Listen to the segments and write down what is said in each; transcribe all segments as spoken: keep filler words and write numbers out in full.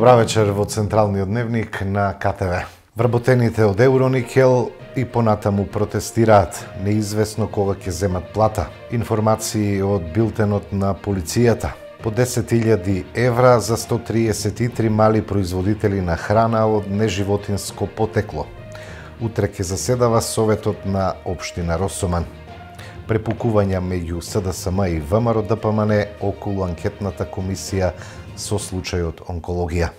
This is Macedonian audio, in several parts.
Добра вечер во Централниот дневник на К Т В. Вработените од Евроникел и понатаму протестираат. Неизвестно кога ќе земат плата. Информации од билтенот на полицијата. По десет илјади евра за сто триесет и три мали производители на храна од неживотинско потекло. Утре ќе заседава Советот на општина Росоман. Препукувања меѓу С Д С М и В М Р Д П М Н околу анкетната комисија со случајот онкологија.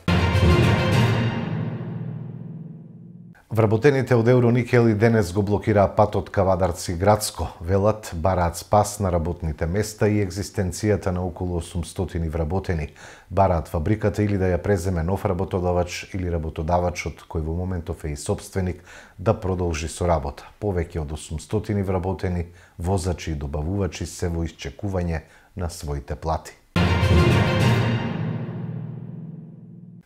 Вработените од Евроникел и денес го блокираа патот Кавадарци градско. Велат, бараат спас на работните места и екзистенцијата на околу осумстотини вработени. Бараат фабриката или да ја преземе нов работодавач или работодавачот кој во моментов е и собственик да продолжи со работа. Повеќе од осумстотини вработени, возачи и добавувачи се во исчекување на своите плати.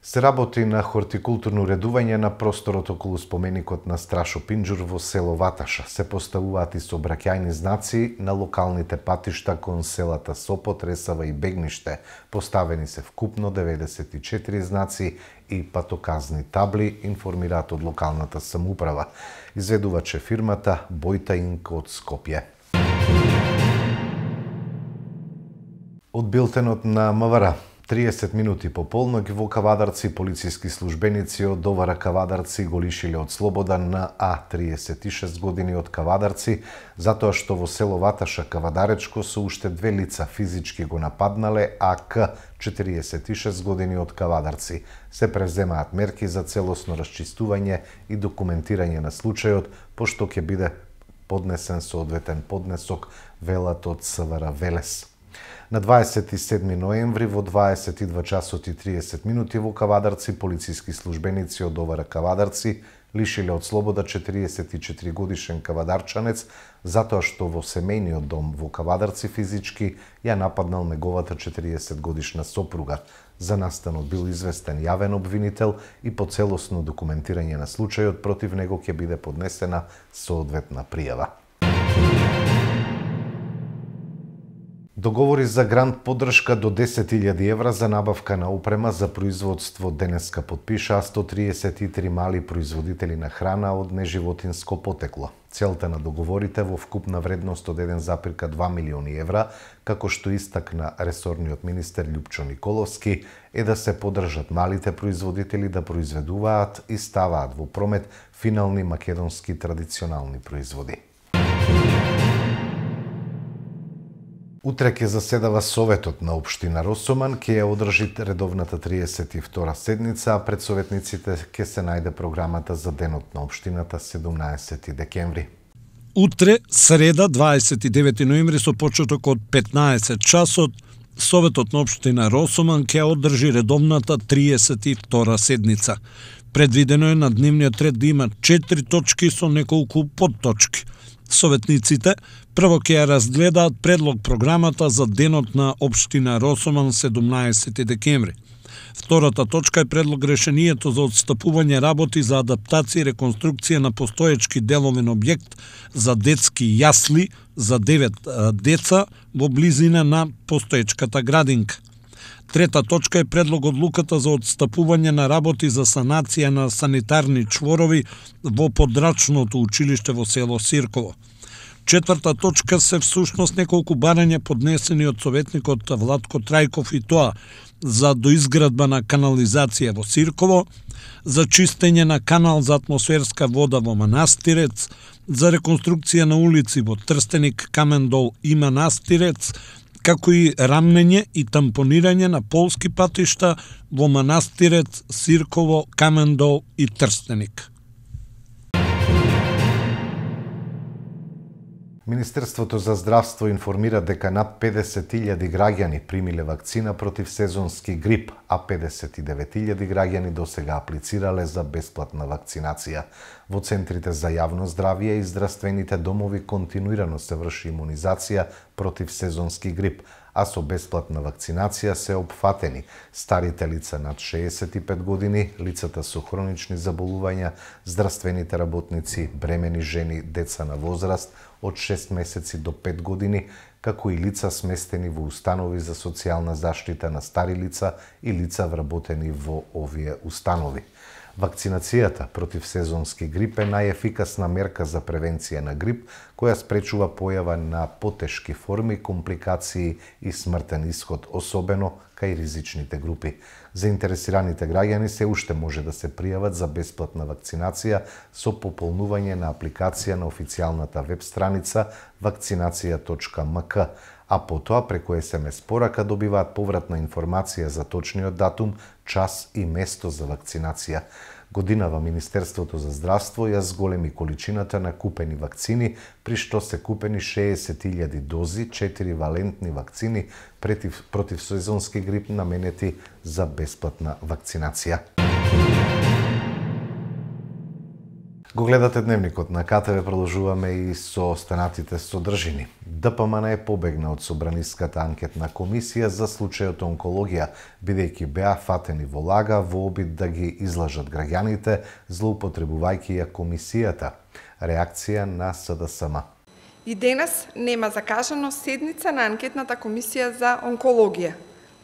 Се работи на хортикултурно редување на просторот околу споменикот на Страшо Пинџур во село Ваташа. Се поставуваат и сообраќајни знаци на локалните патишта кон селата Сопот, Ресава и Бегниште. Поставени се вкупно деветдесет и четири знаци и патоказни табли, информираат од локалната самоуправа. Изведуваче фирмата Бојта Инк од Скопје. Од билтенот на М В Р. триесет минути по полног во Кавадарци полициски службеници од Довара Кавадарци го лишиле од слобода на А триесет и шест години од Кавадарци, затоа што во село Ваташа Кавадаречко со уште две лица физички го нападнале А К четириесет и шест години од Кавадарци. Се превземаат мерки за целосно расчистување и документирање на случајот, пошто ќе биде поднесен соодветен поднесок, велат од С В Р Велес. На дваесет и седми ноември во дваесет и два часот и триесет минути во Кавадарци полициски службеници од Довара Кавадарци лишиле од слобода четириесет и четири годишен кавадарчанец затоа што во семејниот дом во Кавадарци физички ја нападнал неговата четириесет годишна сопруга. За настанот бил известен јавен обвинител и по целосно документирање на случајот против него ќе биде поднесена соодветна пријава. Договори за грант поддршка до десет илјади евра за набавка на опрема за производство денеска подпишаа сто триесет и три мали производители на храна од неживотинско потекло. Целта на договорите во вкупна вредност од еден запирка два милиони евра, како што истакна ресорниот министер Љупчо Николовски, е да се поддржат малите производители да произведуваат и ставаат во промет финални македонски традиционални производи. Утре ќе заседава Советот на општина Росоман, ќе ја одржи редовната триесет и втора седница, а пред советниците ќе се најде програмата за денот на општината седумнаесети декември. Утре, среда, дваесет и девети ноември, со почеток од петнаесет часот, Советот на општина Росоман ќе одржи редовната триесет и втора седница. Предвидено е на дневниот ред да има четири точки со неколку подточки. Советниците прво ќе ја разгледаат предлог програмата за денот на општина Росоман седумнаесети декември. Втората точка е предлог решението за отстапување работи за адаптација и реконструкција на постоечки деловен објект за детски јасли за девет деца во близина на постоечката градинка. Трета точка е предлог одлуката за отстапување на работи за санација на санитарни чворови во подрачното училиште во село Сирково. Четврта точка се всушност неколку барања поднесени од советникот Владко Трајков и тоа за доизградба на канализација во Сирково, за чистење на канал за атмосферска вода во Манастирец, за реконструкција на улици во Трстеник, Камендол и Манастирец, како и рамнење и тампонирање на полски патишта во Манастирец, Сирково, Камендол и Трстеник. Министерството за здравство информира дека над педесет илјади граѓани примиле вакцина против сезонски грип, а педесет и девет илјади граѓани досега аплицирале за бесплатна вакцинација. Во центрите за јавно здравје и здравствените домови континуирано се врши имунизација против сезонски грип, а со бесплатна вакцинација се опфатени старите лица над шеесет и пет години, лицата со хронични заболувања, здравствените работници, бремени жени, деца на возраст од шест месеци до пет години, како и лица сместени во установи за социјална заштита на стари лица и лица вработени во овие установи. Вакцинацијата против сезонски грип е најефикасна мерка за превенција на грип, која спречува појава на потешки форми, компликации и смртен исход, особено кај ризичните групи. Заинтересираните граѓани се уште може да се пријават за бесплатна вакцинација со пополнување на апликација на официјалната веб страница вакцинација точка ем ка, а потоа преку ес ем ес порака добиваат повратна информација за точниот датум, час и место за вакцинација. Годинава Министерството за здравство ја зголеми количината на купени вакцини, при што се купени шеесет илјади дози, четири валентни вакцини против, против сезонски грип наменети за бесплатна вакцинација. Го гледате Дневникот на ка те ве, продолжуваме и со останатите содржини. Д П М Н побегна од Собраниската анкетна комисија за случајот онкологија, бидејќи беа фатени во лага во обид да ги излажат граѓаните, злоупотребувајќи ја комисијата. Реакција на С Д С М. И денес нема закажано седница на анкетната комисија за онкологија.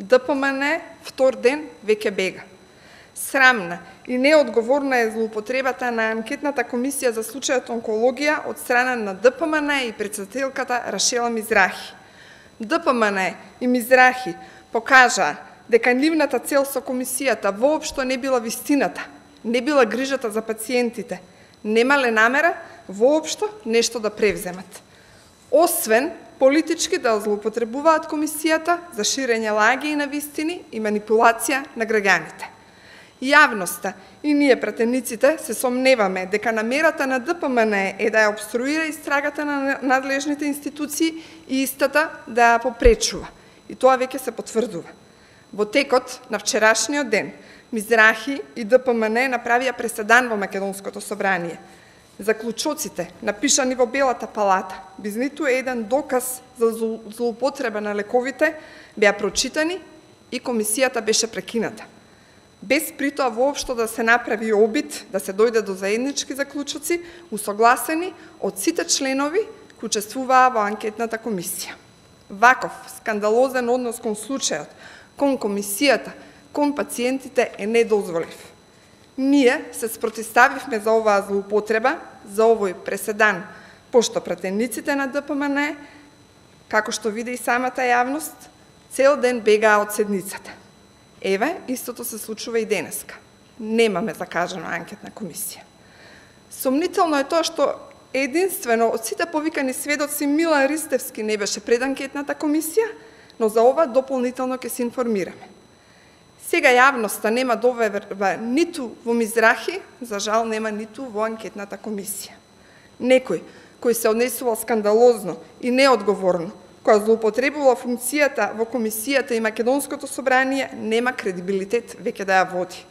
Д П М Н втор ден веќе бега. Срамна и неодговорна е злоупотребата на анкетната комисија за случајот онкологија од страна на Д П М Н и председателката Рашела Мизрахи. Д П М Н и Мизрахи покажаа дека нивната цел со комисијата воопшто не била вистината, не била грижата за пациентите, немале намера воопшто нешто да превземат. Освен политички да злоупотребуваат комисијата за ширење лаги и навистини и манипулација на граѓаните. Јавноста и ние пратениците се сомневаме дека намерата на Д П М Н е да ја обструира истрагата на надлежните институции и истата да ја попречува. И тоа веќе се потврдува. Во текот на вчерашниот ден, Мизрахи и Д П М Н направија преседан во Македонското собрание. Заклучоците, напишани во Белата палата, без ниту еден доказ за злоупотреба на лековите, беа прочитани и комисијата беше прекината. Без притоа воопшто да се направи обид да се дојде до заеднички заклучоци, усогласени од сите членови кои учествуваа во анкетната комисија. Ваков скандалозен однос кон случајот, кон комисијата, кон пациентите е недозволив. Ние се спротивставивме за оваа злоупотреба, за овој преседан, пошто пратениците на Д П М Н, како што види и самата јавност, цел ден бегаа од седницата. Еве, истото се случува и денеска. Немаме закажана анкетна комисија. Сомнително е тоа што единствено од сите повикани сведоци Милан Ристевски не беше пред анкетната комисија, но за ова дополнително ќе се информираме. Сега јавноста нема доверба ниту во Мизрахи, за жал нема ниту во анкетната комисија. Некој кој се однесувал скандалозно и неодговорно, која злоупотребувала функцијата во комисијата и Македонското собрание, нема кредибилитет веќе да ја води.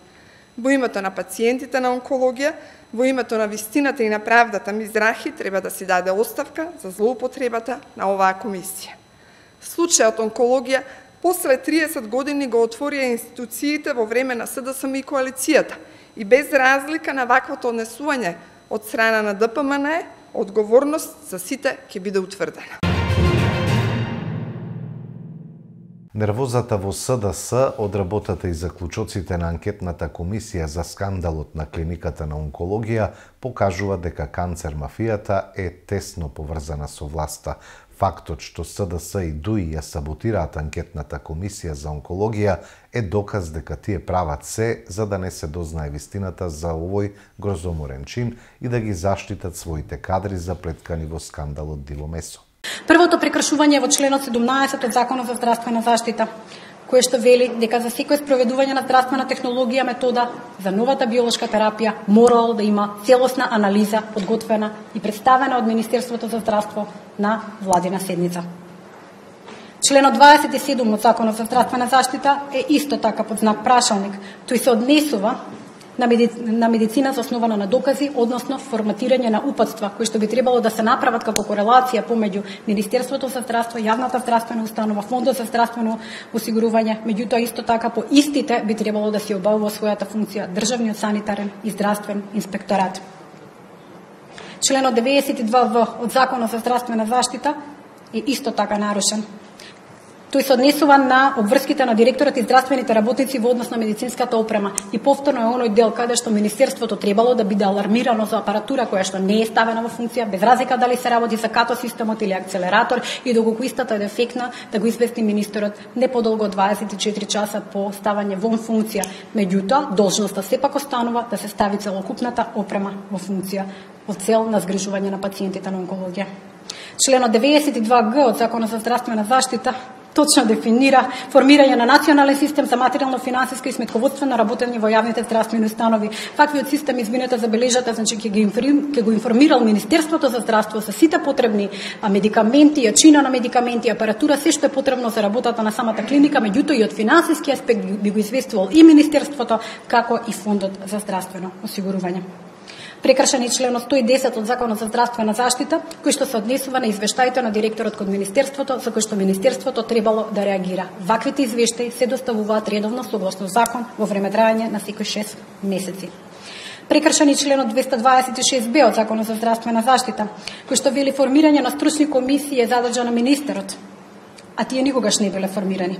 Во името на пациентите на онкологија, во името на вистината и на правдата, Мизрахи треба да си даде оставка за злоупотребата на оваа комисија. Случајот онкологија после триесет години го отворија институциите во време на С Д С М и коалицијата и без разлика на ваквото однесување од страна на Д П М Н, одговорност за сите ќе биде утврдена. Нервозата во С Д С од работата и заклучоците на анкетната комисија за скандалот на клиниката на онкологија покажува дека канцер мафијата е тесно поврзана со власта. Фактот што С Д С и Д У И ја саботираат анкетната комисија за онкологија е доказ дека тие прават се за да не се дознае вистината за овој грозоморен чин и да ги заштитат своите кадри заплеткани во скандалот Диво Месо. Првото прекршување во членот седумнаесет од Законот за здравствена заштита, кој што вели дека за секој спроведување на здравствена технологија метода за новата биолошка терапија морало да има целосна анализа подготвена и представена од Министерството за здравство на владина седница. Членот дваесет и седум од Законот за здравствена заштита е исто така под знак прашалник. Тој се однесува на, меди... на медицина заоснована на докази, односно форматирање на упатства кои што би требало да се направат како корелација помеѓу Министерството за здравство, јавната здравствена установа, Фондот за здравствено осигурување, меѓутоа исто така по истите би требало да се обавува својата функција државниот санитарен и здравствен инспекторат. Членот деветдесет и два в од Законот за здравствена заштита е исто така нарушен. Тој се однесува на обврските на директорот и здравствените работници во однос на медицинската опрема. И повторно е оној дел каде што Министерството требало да биде алармирано за апаратура која што не е ставена во функција, без разлика дали се работи за като системот или акцелератор, и доколку истата е дефектна, да го извести министерот не подолго од дваесет и четири часа по ставање во функција. Меѓутоа, должноста сепак останува да се стави целокупната опрема во функција во цел на згрижување на пациентите на онкологија. Членот деветдесет и два г од Законот за здравствена заштита точно дефинира формирање на национален систем за материјално-финансиска и сметководствено работење во јавните здравствени установи. Ваквиот систем, извинете, забележате, значи ќе ги ќе го информирал Министерството за здравство за сите потребни медикаменти, јачина на медикаменти, апаратура, се што е потребно за работата на самата клиника, меѓутоа и од финансиски аспект би го известувал и Министерството, како и Фондот за здравствено осигурување. Прекршен е членот сто и десет од Законот за здравствена заштита, кој што се однесува на извештаите на директорот код Министерството, за кој што Министерството требало да реагира. Ваквите извештаи се доставуваат редовно согласно закон во време трајање на секој шест месеци. Прекршен е членот двеста дваесет и шест б од Законот за здравствена заштита, кој што вели формирање на стручни комисии е задача на министерот, а тие никогаш не биле формирани.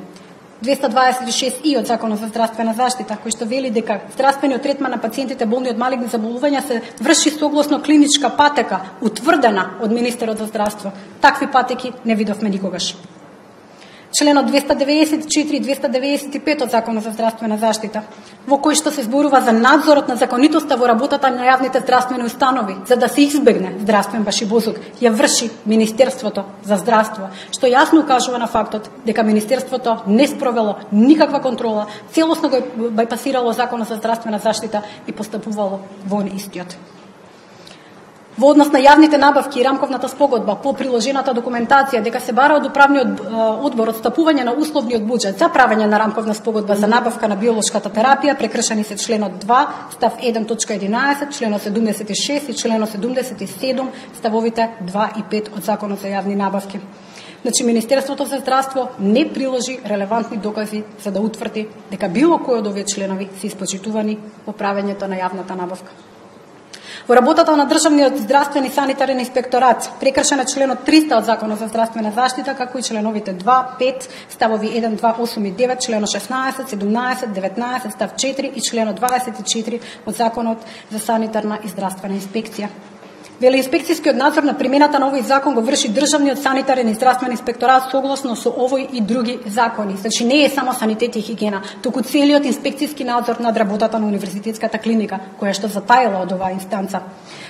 двеста дваесет и шест и од Законот за здравствена заштита, кој што вели дека здравствениот третман на пациентите болни од малигни заболувања се врши согласно клиничка патека, утврдена од министерот за здравство. Такви патеки не видовме никогаш. Членот двеста деветдесет и четири и двеста деветдесет и пет од Законот за здравствена заштита, во кој што се зборува за надзорот на законитоста во работата на јавните здравствени установи, за да се избегне здравствен башибозук, ја врши Министерството за здравство, што јасно укажува на фактот дека Министерството не спровело никаква контрола, целосно го бајпасирало Законот за здравствена заштита и постапувало во истиот. Во однос на јавните набавки и рамковната спогодба по приложената документација дека се бара од управниот одбор отстапување на условниот буџет за правење на рамковна спогодба за набавка на биолошката терапија, прекршени се членот два, став еден точка единаесет, членот седумдесет и шест и членот седумдесет и седум, ставовите два и пет од Законот за јавни набавки. Значи, Министерството за здравство не приложи релевантни докази за да утврди дека било кој од овие членови се испочитувани во правењето на јавната набавка. Во работата на државниот здравствен и санитарен инспекторат прекршен е членот триста од Законот за здравствена заштита, како и членовите два, пет, ставови еден, два, осум и девет, членот шеснаесет, седумнаесет, деветнаесет, став четири и членот дваесет и четири од Законот за санитарна и здравствена инспекција. Вели инспекцијскиот надзор на примената на овој закон го врши државниот санитарен и здравствен инспекторат согласно со овој и други закони. Значи не е само санитет и хигиена, туку целиот инспекцијски надзор над работата на универзитетската клиника, која што затаила од оваа инстанца.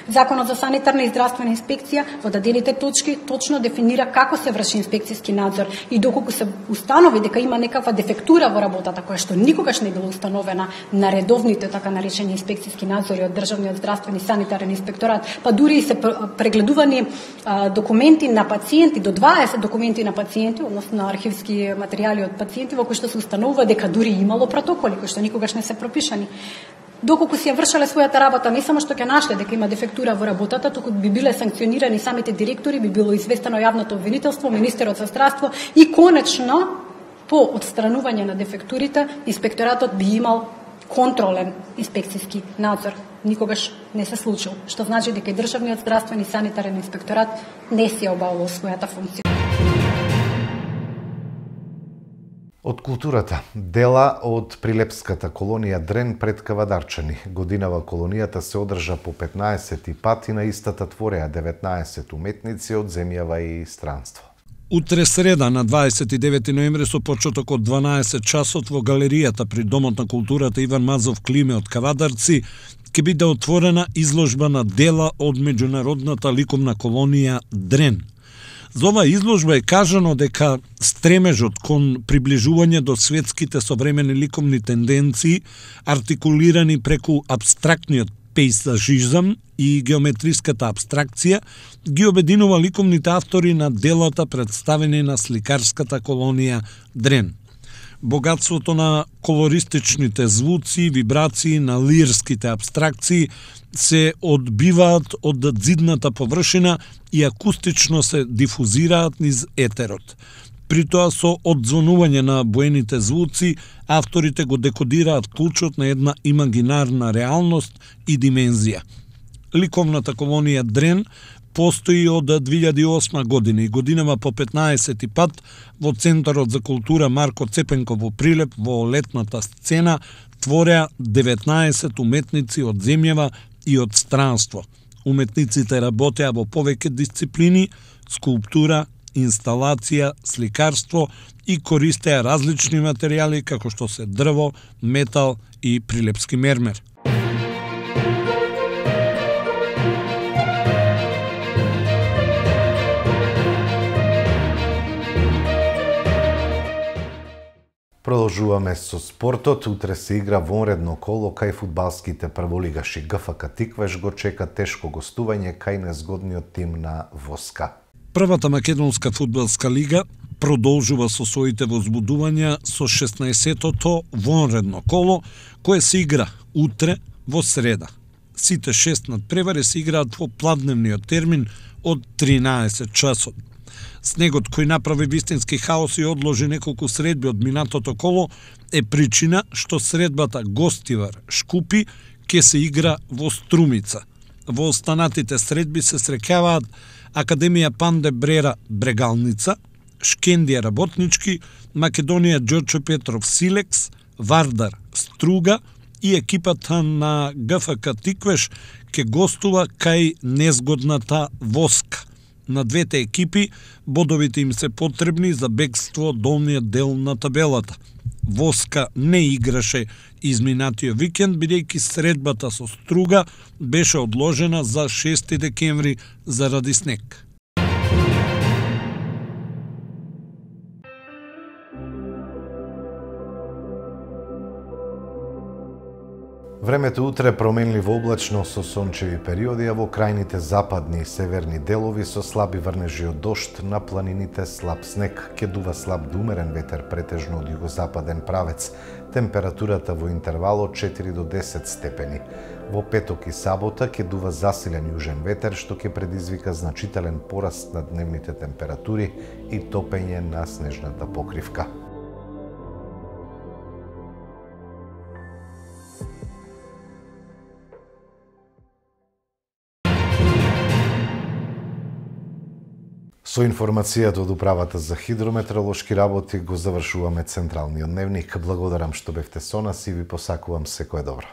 Законот за санитарна и здравствена инспекција во дадените точки точно дефинира како се врши инспекцијски надзор и доколку се установи дека има некаква дефектура во работата која што никогаш не била установена на редовните така наречени инспекцијски надзори од државниот здравствен и санитарен инспекторат, па дури и се прегледувани а, документи на пациенти, до дваесет документи на пациенти, односно на архивски материјали од пациенти во кои што се установува дека дури имало протоколи кои што никогаш не се пропишани. Доколку си ја вршале својата работа, не само што ќе нашле дека има дефектура во работата, туку би биле санкционирани самите директори, би било известено јавното обвинителство, министерот за здравство и конечно по отстранување на дефектурите, инспекторатот би имал контролен инспекцијски надзор. Никогаш не се случил, што значи дека и државниот здравствен и санитарен инспекторат не се обавувал својата функција. Од културата, дела од прилепската колонија Дрен пред Кавадарчани. Годинава колонијата се одржа по петнаесети пат и на истата твореа деветнаесет уметници од земјава и странство. Утре среда на дваесет и девети ноември со почеток од дванаесет часот во галеријата при Домот на културата Иван Мазов Климе од Кавадарци ќе биде отворена изложба на дела од меѓународната ликовна колонија Дрен. За оваа изложба е кажано дека стремежот кон приближување до светските современи ликовни тенденции, артикулирани преку абстрактниот пейзажизам и геометриската абстракција, ги обединува ликовните автори на делата представени на сликарската колонија Дрен. Богатството на колористичните звуци, вибрации, на лирските абстракции се одбиваат од зидната површина и акустично се дифузираат низ етерот. При тоа со одзвонување на боените звуци, авторите го декодираат клучот на една имагинарна реалност и димензија. Ликовната колонија Дрен постои од две илјади и осма година и годинава по петнаесети пат во Центарот за култура Марко Цепенко во Прилеп во летната сцена твореа деветнаесет уметници од земјава и од странство. Уметниците работеа во повеќе дисциплини: скулптура, инсталација, сликарство и користеа различни материјали како што се дрво, метал и прилепски мермер. Продолжуваме со спортот. Утре се игра вонредно коло кај фудбалските прволигаши. ГФК Тиквеш го чека тешко гостување кај незгодниот тим на Воска. Првата македонска фудбалска лига продолжува со своите возбудувања со шеснаесеттото вонредно коло, кое се игра утре во среда. Сите шест надпревари се играат во пладневниот термин од тринаесет часот. Снегот кој направи вистински хаос и одложи неколку средби од минатото коло е причина што средбата Гостивар Шкупи ќе се игра во Струмица. Во останатите средби се среќаваат Академија Панде Брера Брегалница, Шкендија Работнички, Македонија Ѓорче Петров Силекс, Вардар Струга и екипата на ГФК Тиквеш ќе гостува кај незгодната Воска. На двете екипи бодовите им се потребни за бегство од долниот дел на табелата. Воска не играше изминатиот викенд, бидејќи средбата со Струга беше одложена за шести декември заради снег. Времето утре променливо облачно со сончеви периоди, а во крајните западни и северни делови со слаби врнежи од дожд, на планините слаб снег, ќе дува слаб до умерен ветер претежно од југозападен правец. Температурата во интервал од четири до десет степени. Во петок и сабота ќе дува засилен јужен ветер, што ќе предизвика значителен пораст на дневните температури и топење на снежната покривка. Со информацијата од Управата за хидрометеоролошки работи го завршуваме централниот дневник. Благодарам што бевте со нас и ви посакувам секое добро.